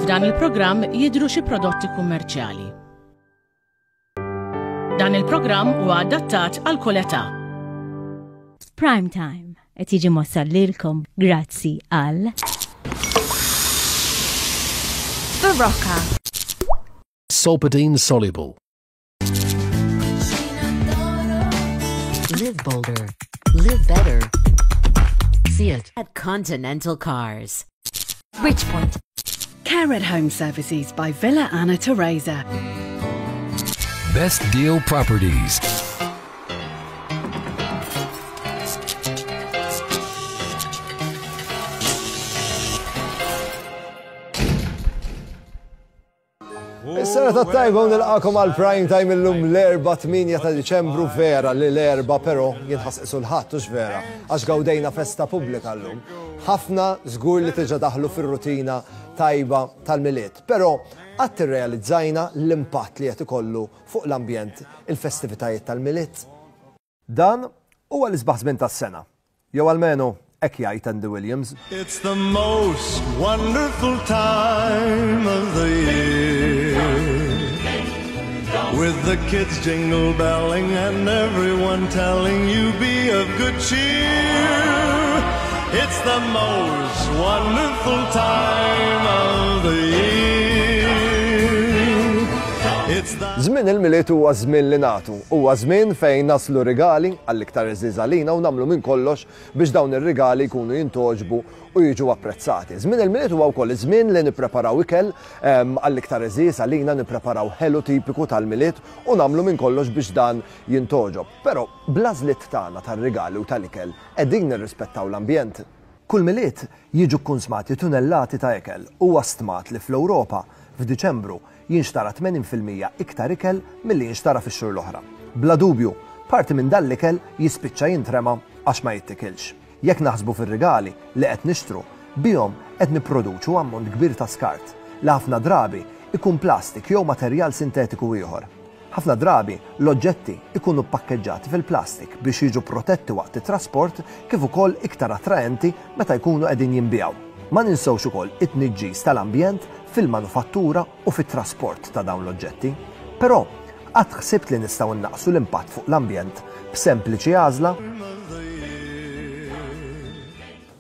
F'dan il-programm jidhru xi prodotti kummerċjali. Dan il-programm huwa adattat għal kull età. Prime Time qed jiġi mwassal lilkom grazzi għal Barocca. Solpadeine Soluble. Live bolder. Live better. See it at Continental Cars. Bridgepoint. Care at Home Services by Villa Anna Teresa. Best Deal Properties. Is-sena ta' tajba u nilqakom għal prime time illum l-erba' 8 ta' Diċembru vera li l-erba' però jinħass l-ħadd hux vera għax gawdejna festa pubblika llum. Ħafna żgur li tiġa daħlu fir-rutina tajba tal-Milied, però qatt irrealizzajna l-impatt li qed ikollu fuq l-ambjent il-festivitajiet tal-Milied. Dan huwa l-isbaħ żmien tas-sena. Jew almenu hekk jgħid Andy Williams. It's the most wonderful time of the year. With the kids jingle belling and everyone telling you be of good cheer. It's the most wonderful time of the year. It's the Żmien il-Milied huwa żmien li nagħtu. Huwa żmien fejn naslu rigali għall-iktar għeżież għalina u nagħmlu minn kollox biex dawn ir-rigali jkunu jintgħoġbu u jiġu apprezzati. Żmien il-Milied huwa wkoll iż-żmien li nippreparaw ikel għall-iktar għeżież għalina, nippreparaw ħelu tipiku tal-Milied u nagħmlu minn kollox biex dan jintgħoġob. Però bl-għażliet tagħna tar-rigali u tal-ikel qegħdin nirrispettaw l-ambjent. Kull Milied jiġu kkunsmati tunellati ta' ikel. Huwa stmat li fl-Ewropa, f'Diċembru, jinxtara 80% iktar ikel milli jinxtara fix-xhur l-oħra. Bla dubju, parti minn dan l-ikel jispiċċa jintrema għax ma jittikilx. Jekk naħsbu fir-rigali li qed nixtru, bihom qed nipproduċu ammont kbir ta' skart, li ħafna drabi jkun plastik jew materjal sintetiku ieħor. Ħafna drabi, l-oġġetti jkunu ppakkeġġati fil-plastik biex jiġu protetti waqt it-trasport kif ukoll iktar attraenti meta jkunu qegħdin jinbiegħu. Ma ninsewx ukoll it-tniġġis tal-ambjent fil-manufattura u fit-trasport ta' dawn l-oġġetti. Però, qatt ħsibt li nistgħu nnaqqsu l-impatt fuq l-ambjent b'sempliċi għażla?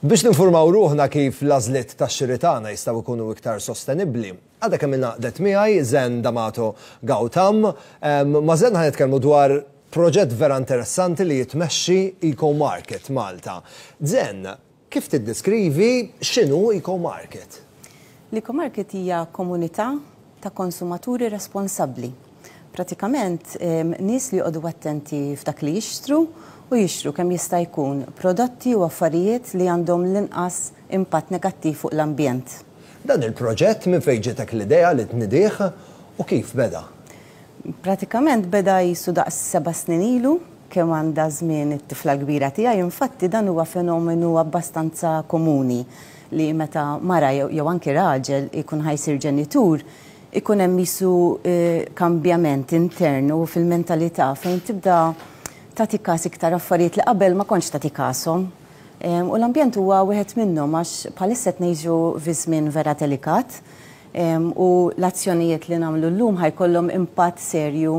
Biex ninfurmaw ruħna kif l-għażliet tax-xiri tagħna jistgħu jkunu iktar sostenibbli, Għadha kemm ingħaqdet miegħi Zen D'Amato Gautam. Ma' Zen ħa nitkellmu dwar proġett vera interessanti li jitmexxi Eco Market Malta. Zen, kif tiddeskrivi x'inhu Eco Market? L-Eco Market hija komunità ta' konsumaturi responsabbli. Pratikament nies li joqogħdu attenti f'dak li jixtru u jixtru kemm jista' jkun prodotti u affarijiet li għandhom l-inqas impatt negattiv fuq l-ambjent. Dan il-proġett minn fejn ġietek l-idea li tnidih u kif beda? Pratikament beda qisu daqs seba' snin ilu, kemm għandha żmien it-tifla l-kbira tiegħi, infatti dan huwa fenomenu abbastanza komuni li meta mara jew anki raġel ikun ħa jsir ġenitur, ikun hemm qisu kambjament intern u fil-mentalità fejn tibda tagħti kas iktar affarijiet li qabel ma kontx tagħti kashom. U l-ambjent huwa wieħed minnhom għax bħalissa qed ngħixu fi żmien vera delikat u l-azzjonijiet li nagħmlu llum ħa jkollhom impatt serju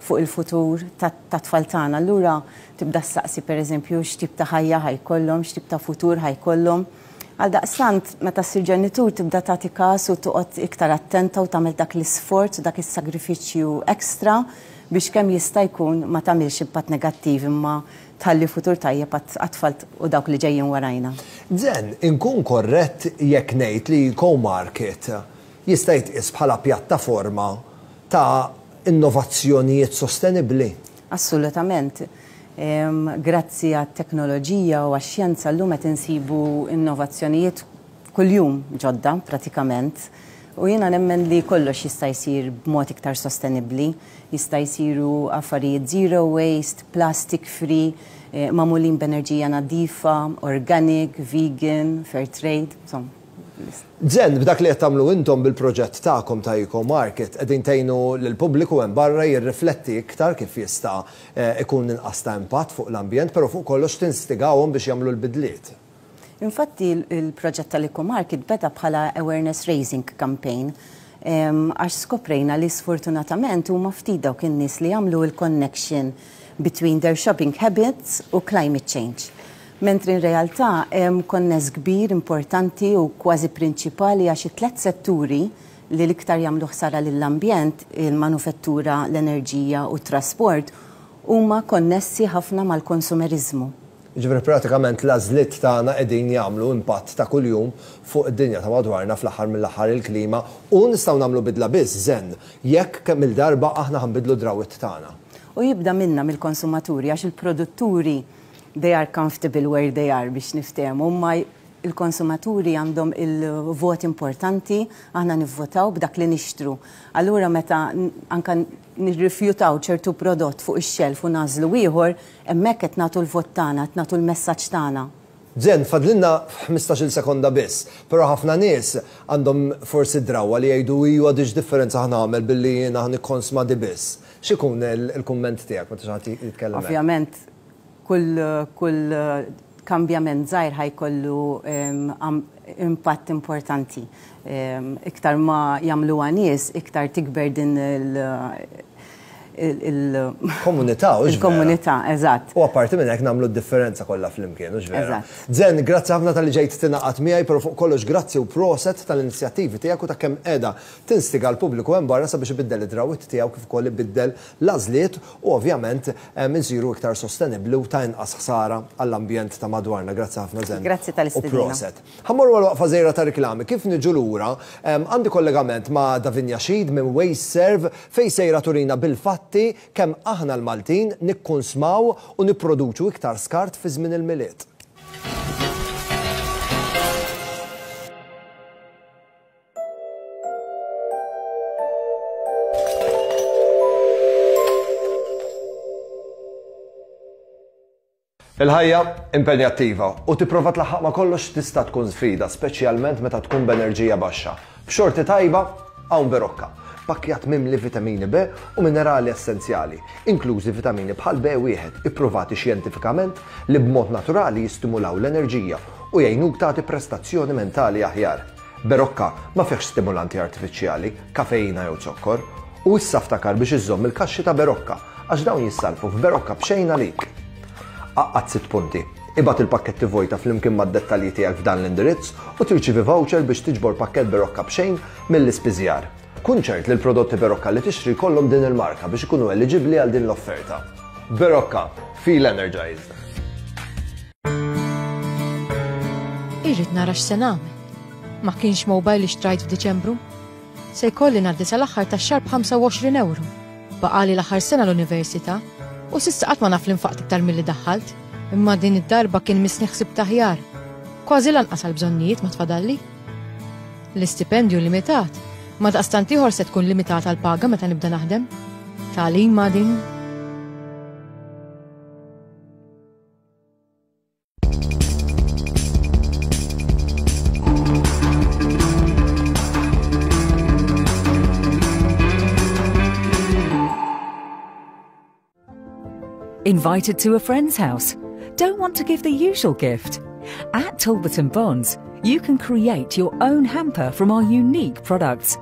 fuq il-futur tat-tfal tagħna. Allura tibda ssaqsi pereżempju x'tip ta' ħajja ħa jkollhom, x'tip ta' futur ħa jkollhom. Għaldaqstant meta ssir ġenitur tibda tagħti każ u toqgħod iktar attenta u tagħmel dak l-isforz u dak is-sagrifiċċju extra biex kemm jista' jkun ma tagħmilx impatt negattiv imma tħalli futur tajjeb għat-tfal u dawk li ġejjin warajna. Zen, inkun korrett jekk ngħid li EcoMarket jista' jitqies bħala pjattaforma ta' innovazzjonijiet sostenibbli? Assolutament. Grazzi għat-teknoloġija u għax-xjenza llum qed insibu innovazzjonijiet kuljum ġodda pratikament. U jiena nemmen li kollox jista' jsir b'mod iktar sostenibbli. Jista' jsiru affarijiet zero waste, plastic free, magħmulin b'enerġija nadifa, organic, vegan, fair trade, insomma. Zen, b'dak li qed tagħmlu intom bil-proġett tagħkom ta' Eco Market, qegħdin tgħinu lill-pubbliku hemm barra jirrifletti iktar kif jista' ikun inqas ta' impatt fuq l-ambjent, però fuq kollox tinstigawhom biex jagħmlu l-bidliet. Infatti l-proġett tal-EcoMarket beda bħala awareness raising campaign għax skoprejna li sfortunatament huma ftit dawk in-nies li jagħmlu l-connection between their shopping habits u climate change. Mentri in realtà hemm konness kbir, importanti u kważi prinċipali għax it-tlet setturi li l-iktar jagħmlu ħsara lill-ambjent, il-manufettura, l-enerġija u t-trasport, huma konnessi ħafna mal-konsumeriżmu. Jiġifieri pratikament l-għażliet tagħna qegħdin jagħmlu impatt ta' kuljum fuq id-dinja ta' madwarna fl-aħħar mill-aħħar il-klima u nistgħu nagħmlu bidla biss, Zen, jekk kemm-il darba aħna ħa nbiddlu d-drawwiet tagħna. U jibda minna mill-konsumaturi għax il-produtturi they are comfortable where they are biex niftehmu imma il-konsumaturi għandhom il-vot importanti, aħna nivvotaw b'dak li nixtru. Allura meta anka nirrifjutaw ċertu prodott fuq ix-xelf u nagħżlu ieħor, hemmhekk qed nagħtu l-vot tagħna, qed nagħtu l-messaġġ tagħna. Zen, fadlilna ħmistax-il sekonda biss, però ħafna nies għandhom forsi d-drawwa li jgħidu ijwa di x'differenza ħa nagħmel billi jiena ħa nikkonsma di biss. X'ikun il-kumment tiegħek meta xi ħadd jitkellem hekk? Ovvjament Kull kull kambjament żgħir ħa jkollu impatt importanti. Iktar ma jagħmluha nies, iktar tikber din il Komunità, hux vera? Il-komunità, eżatt. U apparti minn hekk nagħmlu d-differenza kollha flimkien, hux vera? Eżatt. Zen, grazzi ħafna talli ġejt tingħaqad miegħi, però fuq kollox grazzi u proset tal-inizjattivi tiegħek u ta' kemm qiegħda tinstiga l-pubbliku hemm barra sabiex ibiddel id-drawwiet tiegħu kif ukoll ibiddel l-għażliet u ovvjament insiru iktar sostenibbli u ta' inqas ħsara għall-ambjent ta' madwarna. Grazzi ħafna Zen. Grazzi tal-istedina. U proset. Ħa mmorru għal waqfa żgħira ta' riklami. Kif niġu lura, għandi kollegament ma' Davinia Sheed minn WasteServ fejn sejra turina bil-fatti kemm aħna l-Maltin nikkunsmaw u nipproduċu iktar skart fi żmien il-Milied. Il-ħajja impenjattiva u tipprova tlaħħaq ma' kollox tista' tkun sfida, speċjalment meta tkun b'enerġija baxxa. B'xorti tajba, hawn Berocca, pakkjat mimli vitamini B u minerali essenzjali, inklużi vitamini bħal B1 ippruvati xjentifikament li b'mod naturali jistimulaw l-enerġija u jgħinuk tagħti prestazzjoni mentali aħjar. Berocca ma fihx stimulanti artifiċjali, kafeina jew zokkor. U issa ftakar biex iżżomm il-kaxxi ta' Berocca għax dawn jissarrfu f'Berocca b'xejn għalik. Għaqqad sitt punti. Ibgħat il-pakketti vojta flimkien mad-dettalji tiegħek f'dan l-indirizz u tirċievi voucher biex tiġbor pakkett Berocca b'xejn mill-ispiżjar. Kun ċert li l-prodotti Berocca li tixtri jkollhom din il-marka biex ikunu eliġibbli għal din l-offerta. Berocca, feel energized! Irrid nara x'se nagħmel. Ma kienx mobile li xtrajt f'Diċembru. Se jkolli ngħaddi sal-aħħar tax-xahar b'25 ewro. Baqali l-aħħar sena l-università u s'issa qatt ma naf li nfaqt iktar milli daħħalt. Imma din id-darba kien missni ħsibt aħjar. Kważi lanqas għall-bżonnijiet ma tfadalli. L-istipendju limitat, ma daqstant ieħor se tkun limitata l-paga meta nibda naħdem. Tagħlima din. Invited to a friend's house? Don't want to give the usual gift? At Talbot & Bonds, you can create your own hamper from our unique products.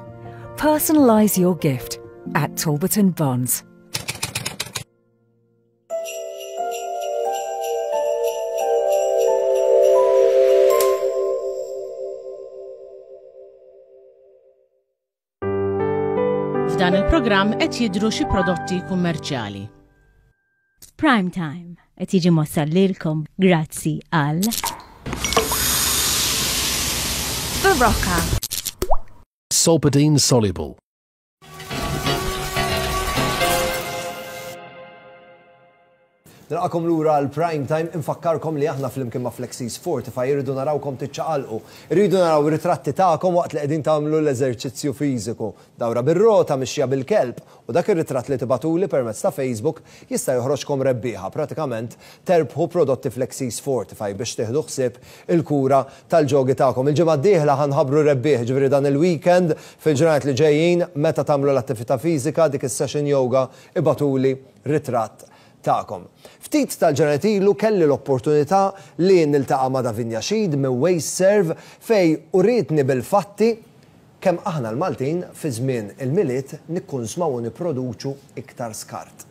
Personalise your gift at Talbot & Bonds. F'dan il-programm qed jidhru xi prodotti kummerċjali. Prime Time qed jiġi mwassal lilkom grazzi għal Barocca. Solpadeine Soluble. Nilqakom lura għal Prime Time, infakkarkom li aħna flimkien ma' Flexis Fortify irridu narawkom tiċċaqalqu. Irridu naraw ritratti tagħkom waqt li qegħdin tagħmlu l-eżerċizzju fiżiku. Dawra bir-rota, mixja bil-kelb, u dak ir-ritratt li tibgħatuli permezz ta' Facebook jista' joħroġkom rebbieħa, pratikament terbħu prodotti Flexis Fortify biex tieħdu ħsieb il-kura tal-ġogi tagħkom. Il-ġimgħa d-dieħla ħa nħabbru rebbieħ, jiġifieri dan il-weekend, fil-ġranet li ġejjin, meta tagħmlu l-attività fiżika, dik is-session yoga, ibagħtuli ritratt tagħkom. Ftit tal-ġranet ilu kelli l-opportunità li niltaqa' ma' Davinia Sheed minn WasteServ fejn urietni bil-fatti kemm aħna l-Maltin fi żmien il-Milied nikkunsmaw u nipproduċu iktar skart.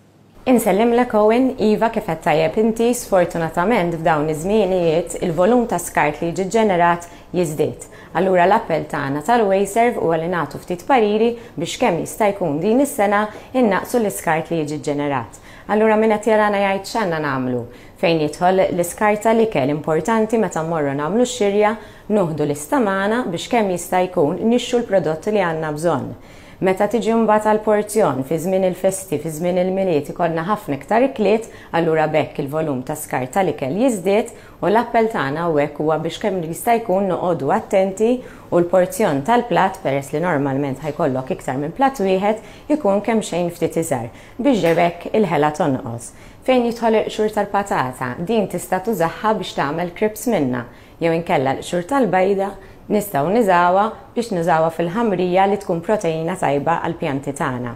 Insellimlek Owen, iva kif għedt tajjeb inti, sfortunatament f'dawn iż-żmienijiet il-volum ta' skart li jiġi ġġenerat jiżdied. Allura l-appell tagħna tal-WasteServ huwa li nagħtu ftit pariri biex kemm jista' jkun din is-sena innaqqsu l-iskart li jiġi ġġenerat. Allura min qed jarana jgħid x'għandna nagħmlu? Fejn jidħol l-iskart tal-ikel importanti meta mmorru nagħmlu x-xirja nuħdu lista magħna biex kemm jista' jkun nixtru l-prodott li għandna bżonn. Meta tiġi mbagħad għall-porzjon, fi żmien il-festi, fi żmien il-Milied ikollna ħafna iktar ikliet, allura b'hekk il-volum ta' skart tal-ikel jiżdied u l-appell tagħna hawnhekk huwa biex kemm jista' jkun noqogħdu attenti u l-porzjon tal-platt, peress li normalment ħa jkollok iktar minn platt wieħed, ikun kemxejn ftit iżgħar, biex b'hekk il-ħela tonqos. Fejn jidħol il-qxur tal-patata, din tista' tużaha biex tagħmel crisps minnha. Jew inkella l-qxur tal-bajda nistgħu niżgħuha biex nużawha fil-ħamrija li tkun proteina tajba għall-pjanti tagħna.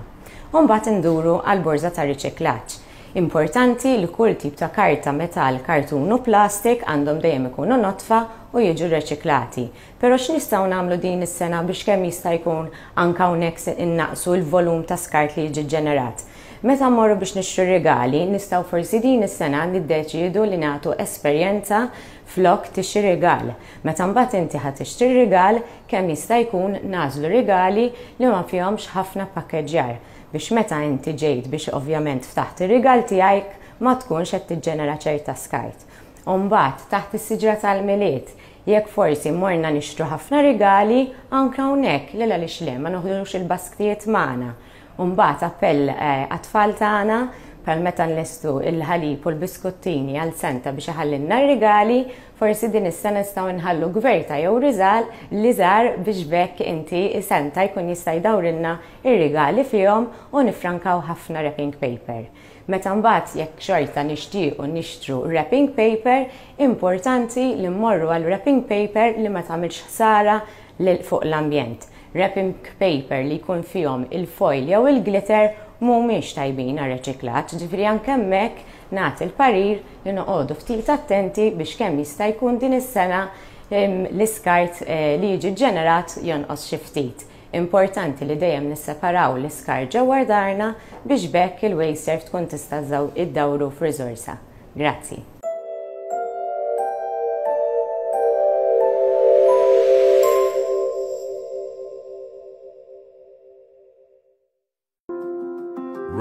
U mbagħad induru għall-borża tar-riċiklaġġ. Importanti li kull tip ta' karta, metall, kartun u plastik għandhom dejjem ikunu nodfa u jiġu rreċiklati. Però x'nistgħu nagħmlu din is-sena biex kemm jista' jkun anke hawnhekk innaqqsu l-volum ta' skart li jiġi ġġenerat? Meta mmorru biex nixtru r-rigali, nistgħu forsi din is-sena niddeċiedu li nagħtu esperjenza Flok tixtri rigal. Meta mbagħad inti ħa tixtri r-rigal, kemm jista' jkun nagħżlu rigali li ma fihomx ħafna ppakkeġġjar biex meta inti ġejt biex ovvjament ftaħt ir-rigal tiegħek ma tkunx qed tiġġenera ċerta skart. U mbagħad taħt is-siġra tal-Milied, jekk forsi morna nixtru ħafna rigali, anke hawnhekk, lil għaliex le ma noħdux il-basktijiet magħna. U mbagħad appell għat-tfal tagħna, bħal meta nlestu l-ħalib u l-biskuttini għal Santa biex iħallilna r-rigali, forsi din is-sena nistgħu nħallu gverta jew riżal liżar biex b'hekk inti Santa jkun jista' jdawrilna r-rigali fihom u niffrankaw ħafna wrapping paper. Meta mbagħad jekk xorta nixtiequ nixtru wrapping paper, importanti li mmorru għal wrapping paper li ma tagħmilx ħsara lil fuq l-ambjent. Wrapping paper li jkun fihom il-foil jew il-glitter mhumiex tajbin għar-reċiklaġġ, ġifieri anke hemmhekk nagħti l-parir li noqogħdu ftit attenti biex kemm jista' jkun din is-sena l-iskart li jiġi ġġenerat jonqos xi ftit. Importanti li dejjem nisseparaw l-iskart ġewwa darna biex b'hekk il-WasteServ tkun tista' ddawru f'riżorsa. Grazzi.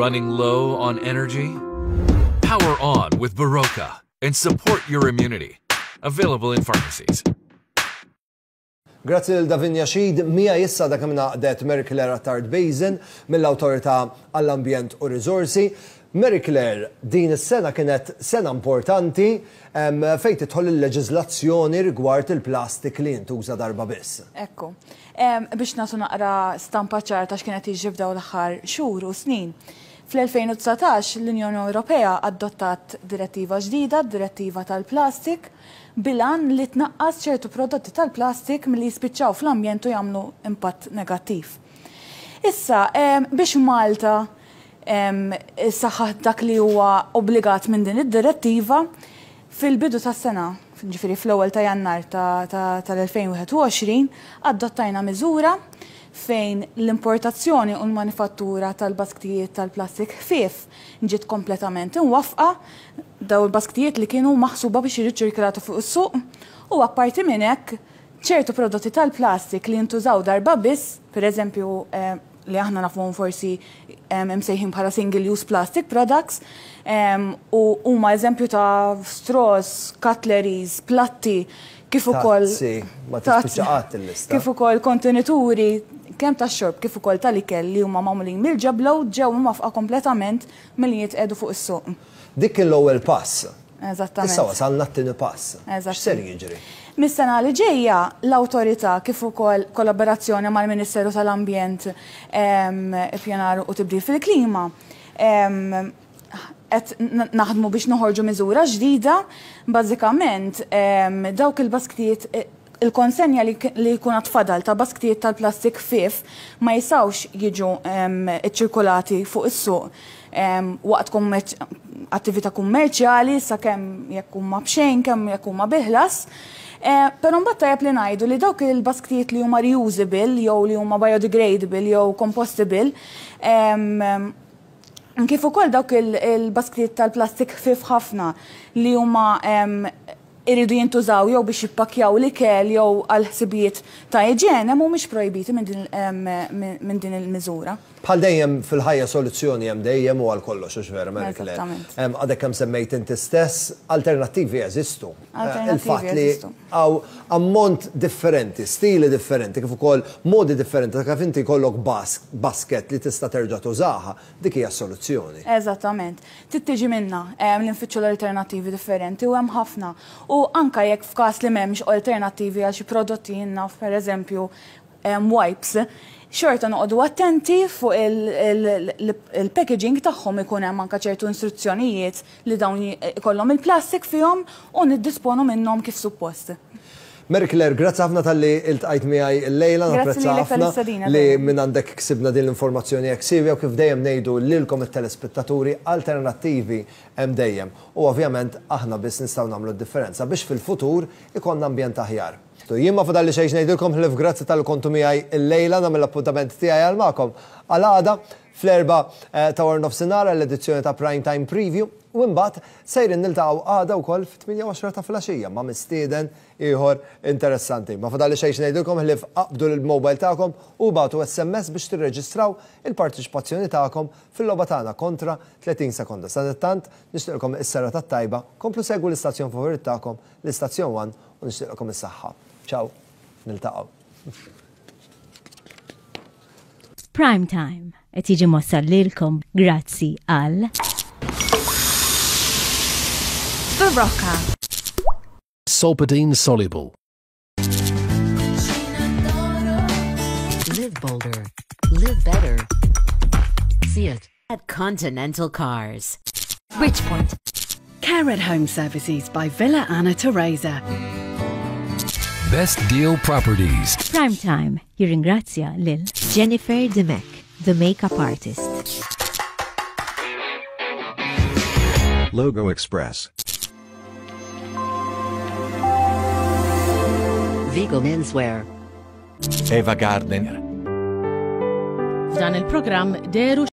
Running low on energy? Power on with Baroka and support your immunity. Available in pharmacies. Grazzi lil Davinia Sheed, miegħi issa dak kemm ngħaqdet Mary Claire Attard Basin mill-Awtorità għall-Ambjent u Riżorsi. Mary Claire, din is-sena kienet sena importanti fejn tidħol il-leġiżlazzjoni rigward il-plastik li jintuża darba biss. Ekku. Biex nagħtu naqra stampa ċara ta' x'kien qed jiġri f'dawn l-aħħar xhur u snin. Fl-2019 l-Unjoni Ewropea adottat direttiva ġdida, d-Direttiva tal-Plastik, bil-għan li tnaqqas ċertu prodotti tal-plastik milli jispiċċaw fl-ambjent u jagħmlu impatt negattiv. Issa, biex Malta ssaħħaħ dak li huwa obbligat minn din id-direttiva, fil-bidu tas-sena, ġifieri fl-ewwel ta' Jannar tal-2021, adottajna miżura fejn l-importazzjoni u l-manifattura tal-basktijiet tal-plastik ħfief ġiet kompletament imwaffqa Dawn il-basktijiet li kienu maħsuba biex jiġu ċirkolati fuq is-suq u apparti minn hekk ċertu prodotti tal-plastik li jintużaw darba biss, pereżempju li aħna nafuhom forsi imsejħin bħala single use plastic products u huma eżempju ta' straws, cutleries, platti, kif ukoll Tazzi, ma tispiċċa qatt il-lista. Kif ukoll kontenituri kemm tax-xorb kif ukoll tal-ikel li huma magħmulin mill-ġebla u ġew imwaffqa kompletament milli jitqiegħdu fuq is-suq. Dik kien l-ewwel pass. Eżattament. Issa wasalna t-tieni pass. Eżatt. X'ser jiġri? Mis-sena li ġejja, l-Awtorità kif ukoll kollaborazzjoni mal-Ministeru tal-Ambjent, Ippjanar u Tibdil fil-Klima, qed naħdmu biex noħorġu miżura ġdida. Bażikament, dawk il-basktijiet. Il-konsenja li jkun għad fadal ta' basktijiet tal-plastik ħfief ma jistgħux jiġu ċċirkolati fuq is-suq waqt attività kummerċjali sakemm jekk huma b'xejn kemm jekk huma bi ħlas. Però mbagħad tajjeb li ngħidu li dawk il-basktijiet li huma reusable jew li huma biodegradable jew compostable kif ukoll dawk il-basktijiet tal-plastik ħfief ħafna li huma iridu jintużaw jew biex jippakkjaw l-ikel jew għal ħsibijiet ta' iġene mhumiex projbiti minn din il-miżura. Bħal dejjem fil-ħajja soluzzjoni hemm dejjem u għal kollox, hux vera, Mary Claire? Eżattament. Għadek kemm semmejt inti stess, alternattivi jeżistu. Alternattivi Il-fatt li jeżistu. hawn ammont differenti, stili differenti, kif ukoll modi differenti ta' kif inti jkollok basket li tista' terġa' tużaha, dik hija s-soluzzjoni. Eżattament. Trid tiġi minna li nfittxu l-alternattivi differenti u hemm ħafna. U anke jekk f'każ li m'hemmx alternattivi għal xi prodotti jien naf pereżempju wipes, xorta noqogħdu attenti fuq il-packaging tagħhom ikun hemm anke ċertu instruzzjonijiet li dawn ikollhom il-plastik fihom u niddisponu minnhom kif suppost. Mary Claire, grazzi ħafna talli iltqajt miegħi llejla, Grazzi napprezza lilek ħafna tal-istedina, li Daniel. minn għandek ksibna din l-informazzjoni hekk siewja u kif dejjem ngħidu lilkom it-telespettaturi, alternattivi hemm dejjem. U ovvjament aħna biss nistgħu nagħmlu d-differenza biex fil-futur ikollna ambjent aħjar. Jien ma fadalli xejn x'ngħidilkom ħlief grazzi talli kontu miegħi llejla, nagħmel l-appuntament tiegħi għal magħkom għal għada fl-erbgħa ta' waranofsinhar għall-edizzjoni ta' Prime Time Preview u imbagħad sejrin niltaqgħu għada wkoll fit-tmienja u għoxra ta' filgħaxija ma' mistieden ieħor interessanti. Ma fadalli xejn x'ngħidilkom ħlief aqbdu l-mobile tagħkom u ibagħtu SMS biex tirreġistraw il-parteċipazzjoni tagħkom fil-logħba tagħna kontra 30 sekonda. Sadanittant nixtieqlkom is-serata t-tajba, komplu segwu l-istazzjon favorit tagħkom, l-Istazzjon One u nixtieqlkom is-saħħa. Ciao, niltaqgħu. Prime Time qed jiġi mwassal lilkom grazzi għal. Berocca. Solpadeine Soluble. Live bolder. Live better. See it at Continental Cars. Bridgepoint. Care at Home Services by Villa Anna Teresa. Best Deal Properties. Prime Time jirringrazzja lil Jennifer Dimech, the makeup artist. Logo Express. Vigo Menswear. Eva Gardner. F'dan il-programm dehru.